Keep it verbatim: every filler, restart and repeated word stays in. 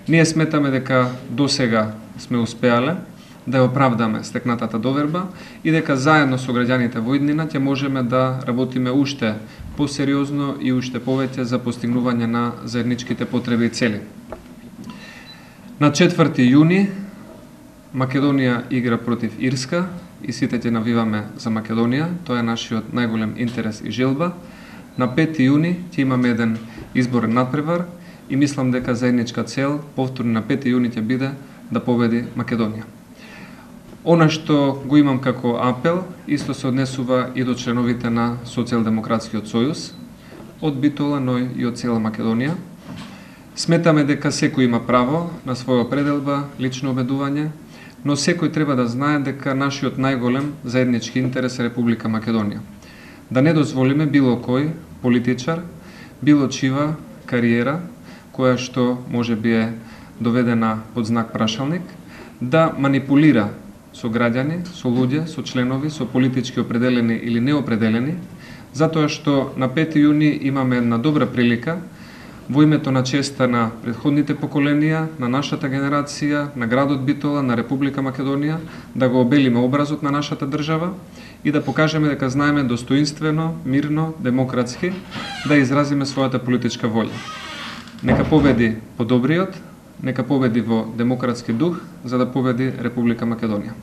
Ние сметаме дека досега сме успеале да ја оправдаме стекнатата доверба и дека заедно со граѓаните во иднина ќе можеме да работиме уште посериозно и уште повеќе за постигнување на заедничките потреби и цели. На четврти јуни Македонија игра против Ирска и сите ќе навиваме за Македонија. Тоа е нашиот најголем интерес и желба. На пети јуни ќе имаме еден изборен надпревар и мислам дека заедничка цел повторно на пети јуни ќе биде да победи Македонија. Она што го имам како апел, исто се однесува и до членовите на Социјалдемократскиот сојуз, од Битола, но и од цела Македонија. Сметаме дека секој има право на своја определба, лично убедување, но секој треба да знае дека нашиот најголем заеднички интерес е Република Македонија. Да не дозволиме било кој политичар, било чива кариера, која што може би е доведена под знак прашалник, да манипулира со граѓани, со луѓе, со членови, со политички определени или неопределени, затоа што на пети јуни имаме една добра прилика во името на честа на претходните поколенија, на нашата генерација, на градот Битола, на Република Македонија, да го обелиме образот на нашата држава и да покажеме дека знаеме достоинствено, мирно, демократски да изразиме својата политичка волја. Нека победи подобриот, нека победи во демократски дух, за да победи Република Македонија.